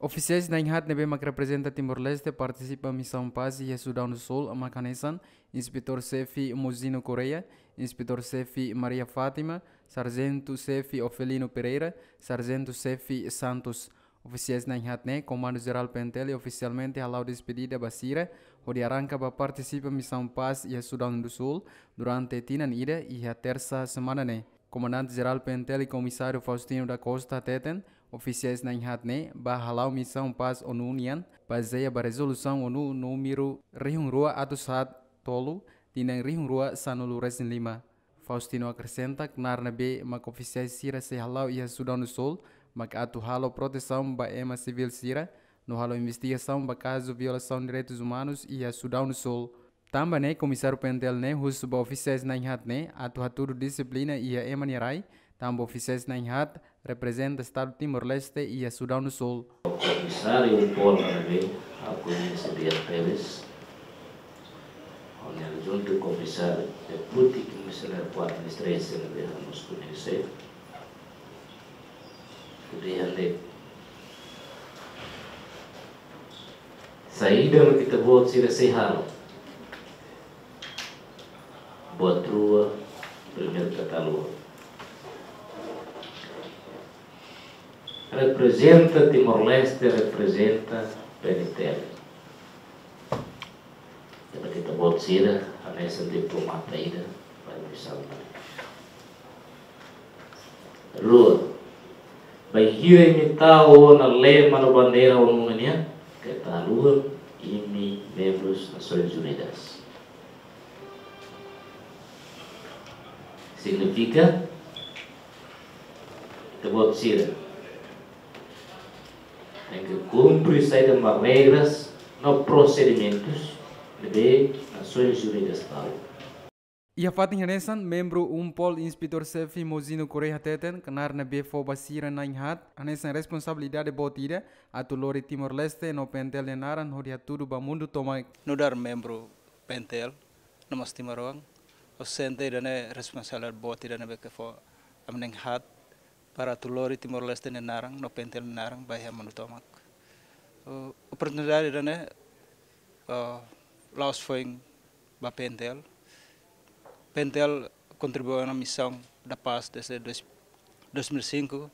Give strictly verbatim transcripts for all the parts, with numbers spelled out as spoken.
Ofisiais na'in-haat ne'ebé mak reprezenta Timor-Leste partisipa misaun pás iha Sudaun do Sul mak hanesan Inspetór Xefe Mozino Correia, Inspetór Xefe Maria Fátima, Sarjentu Xefe Ofelino Pereira, Sarjentu Xefe Santos. Ofisiais na'in-haat ne'e, Komandu Jerál P N T L ofisialmente hala'o despedida ba sira, hodi arranka ba partisipa misaun pás iha Sudaun do Sul durante tinan ida iha tersa semana ne'e. Komandante Jerál P N T L Komisáriu Faustino da Costa hateten, ofisiais na'in-haat ne'e bá hala'o misaun pás ONU nian, bazeia ba rezolusaun ONU númeru rihun rua atus haat tolu, tinan rihun rua sanulu resin lima. Faustino akresenta knaar ne'ebé mak ofisiais sira sei hala'o iha Sudaun do Sul mak atu halo protesaun ba ema sivíl sira, no halo investigasaun ba kazu violasaun direitus umanus iha Sudaun do Sul. Tanba ne'e, Komisáriu P N T L ne'e husu ba ofisiais na'in-haat ne'e atu hatudu dixiplina iha ema nia rai, tanba ofisiais na'in-haat reprezenta Estadu Timor-Leste iha Sudaun do Sul. Komisáriu UNPOL ne'ebé ha'u koñese di'ak tebes, hodi juntu komisáriu deputi komisáriu kuarta distrito ne'ebé ha'u mós koñese. Hodi hatete saida mak ita-boot sira sei halo. Buat rua, primeiru kata luan. Reprezenta Timor-Leste, reprezenta P N T L. Tanba ita-boot sira hanesan diplomata ida ba misaun ne'e. Rua, bainhira imi tau ona lema no bandeira ONU nian, keta haluha imi membrus Nasoins Unidas. Signifika, ita-boot sira tenke kumpre saida mak regras no prosedimentus ne'ebé Nasoins Unidas tau. Iha fatin hanesan, membru UNPOL Inspetór Xefe Mozino Correia hateten, knaar ne'ebé fó ba sira na'in-haat hanesan responsabilidade boot ida atu lori Timor-Leste no P N T L nia naran hodi hatudu ba mundu tomak. Nu'udar membru P N T L, no mós timoroan, ha'u sente ida-ne'e responsabilidade boot ida ne'ebé ke fó ami na'in-haat para atu lori Timor-Leste nia naran no P N T L nia naran ba iha mundu tomak. Uh, oportunidade ida-ne'e, uh, la'ós foin ba P N T L. P N T L kontribui ona misaun da pás desde dois, dois mil e cinco,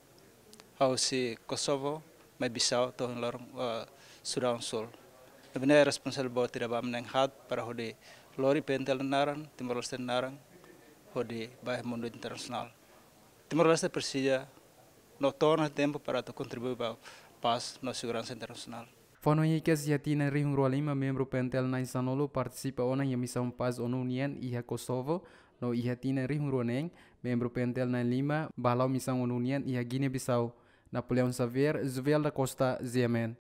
husi Kosovo mai Bissau to'o ohin loron, uh, Sudaun Sul. Ne'ebé ne'e responsabilidade boot ida ba ami na'in-haat para hodi lori P N T L nia naran, Timor-Leste nia naran, hodi ba iha mundu internasionál. Timor-Leste presiza no to'o ona tempu para atu kontribui ba pás no seguransa internasionál. Fó-hanoin hikas, iha tinan rihun rua lima membru P N T L na'in-sanulu partisipa ona iha misaun pás ONU nian iha Kosovo, no iha tinan rihun rua neen membru P N T L na'in-lima bá hala'o misaun ONU nian iha Guiné-Bissau. Napoleão Xavier, Juvel da Costa, G M N.